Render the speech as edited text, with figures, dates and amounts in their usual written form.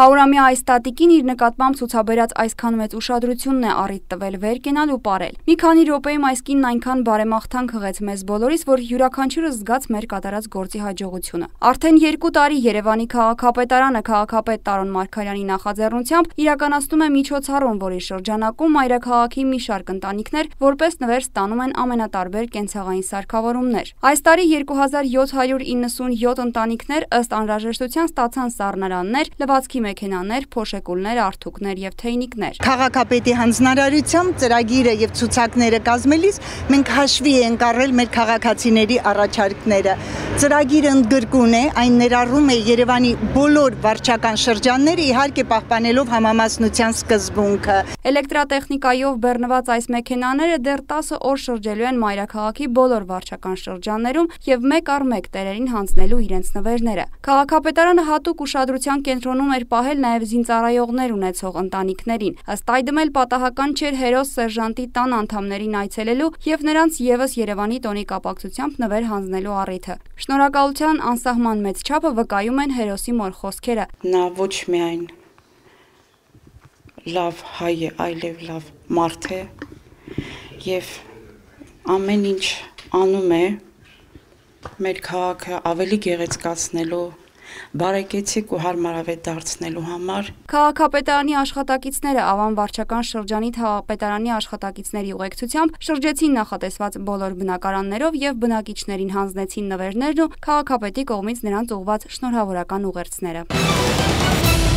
Հարյուրամյա այս տատիկին իր նկատմամբ ցուցաբերած այսքան մեծ ուշադրությունն է առիթ տվել վեր կենալ ու պարել։ Մի քանի րոպեում այս կինն այնքան բարեմաղթանք հղեց մեզ բոլորիս, որ յուրաքանչյուրս զգաց մեր կատարած գործի հաջողությունը։ Արդեն 2 տարի Երևանի քաղաքապետարանը քաղաքապետ Տարոն Մարգարյանի նախաձեռնությամբ իրականացնում է միջոցառում, որի շրջանակում մայրաքաղաքի մի շարք ընտանիքներ որպես նվեր ստանում են ամենատարբեր կենցաղային սարքավորումներ։ Այս տարի 2797 ընտանիքներ ըստ անհրաժեշտության ստացան սառնարաններ, լվացքի մեքենաներ, փոշեկուլներ, արթուկներ եւ թեյնիկներ։ Քաղաքապետի հանձնարարությամբ ծրագիրը եւ ցուցակները կազմելիս մենք հաշվի ենք առել մեր քաղաքացիների առաջարկները։ Ծրագիրը ընդգրկուն է, այն ներառում է Երևանի բոլոր վարչական շրջանները, իհարկե պահպանելով համամասնության սկզբունքը։ Էլեկտրատեխնիկայով բեռնված այս մեքենաները դեռ 10 օր շրջելու են մայրաքաղաքի բոլոր վարչական շրջաններում եւ մեկ առ մեկ տերերին հանձնելու իրենց նվերները։ Քաղաքապետարանը հատուկ ուշադրության կենտրոնում էր պահել նաեւ զինծառայողներ ունեցող ընտանիքներին։ Ըստ այդմ էլ պատահական չէր հերոս սերժանտի տան անդամներին այցելելու եւ նրանց եւս Երևանի տոնի կապակցությամբ նվեր հանձնելու առիթը։ Շնորհակալության անսահման մեծ չափը վկայում են հերոսի մոր խոսքերը։ Նա ոչ միայն լավ հայ է, այլև լավ մարդ է եւ ամեն ինչ անում է մեր քաղաքը ավելի գեղեցկացնելու, բարեկեցիկ ու հարմարավետ դարձնելու համար։ Քաղաքապետարանի աշխատակիցները Ավան վարչական շրջանի քաղաքապետարանի աշխատակիցների ուղեկցությամբ շրջեցին նախատեսված բոլոր բնակարաններով եւ բնակիչներին հանձնեցին նվերներն ու քաղաքապետի կողմից նրանց ուղղված շնորհավորական ուղերձները։